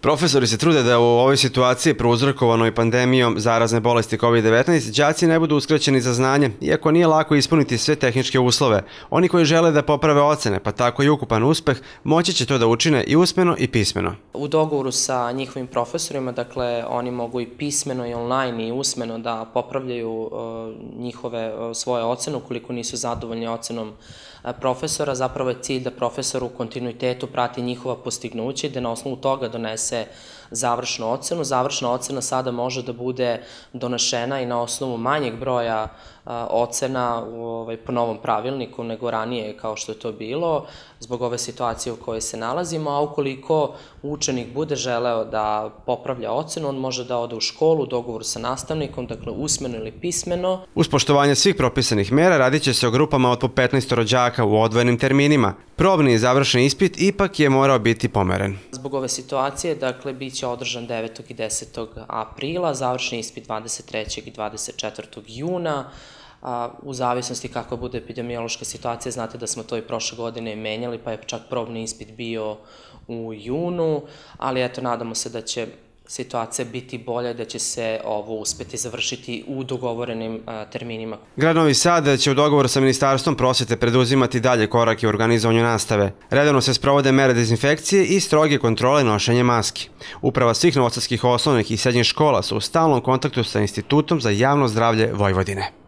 Profesori se trude da u ovoj situaciji prouzrokovanoj pandemijom zarazne bolesti COVID-19 đaci ne budu uskraćeni za znanje, iako nije lako ispuniti sve tehničke uslove. Oni koji žele da poprave ocene, pa tako i ukupan uspeh, moći će to da učine i usmeno i pismeno. U dogovoru sa njihovim profesorima, dakle, oni mogu i pismeno i online i usmeno da popravljaju svoje ocene ukoliko nisu zadovoljni ocenom profesora. Zapravo je cilj da profesor u kontinuitetu prati njihova postignuća i da na osnovu toga donese završnu ocenu. Završna ocena sada može da bude donešena i na osnovu manjeg broja ocena po novom pravilniku nego ranije kao što je to bilo, zbog ove situacije u kojoj se nalazimo, a ukoliko učenik bude želeo da popravlja ocenu, on može da ode u školu u dogovoru sa nastavnikom, dakle usmeno ili pismeno. Uz poštovanje svih propisanih mera radit će se o grupama od po 15 rođaka u odvojenim terminima. Probni i završni ispit ipak je morao biti pomeren. Zbog ove situacije, dakle, bit će održan 9. i 10. aprila, završni ispit 23. i 24. juna. U zavisnosti kakva bude epidemiološka situacija, znate da smo to i prošle godine menjali, pa je čak probni ispit bio u junu, ali eto, nadamo se da će situacija biti bolja, da će se ovo uspeti završiti u dogovorenim terminima. Grad Novi Sad će u dogovoru sa Ministarstvom prosvete preduzimati dalje korake u organizovanju nastave. Redovno se sprovode mere dezinfekcije i stroge kontrole nošenja maski. Uprava svih novosadskih osnovnih i srednjih škola su u stalnom kontaktu sa Institutom za javno zdravlje Vojvodine.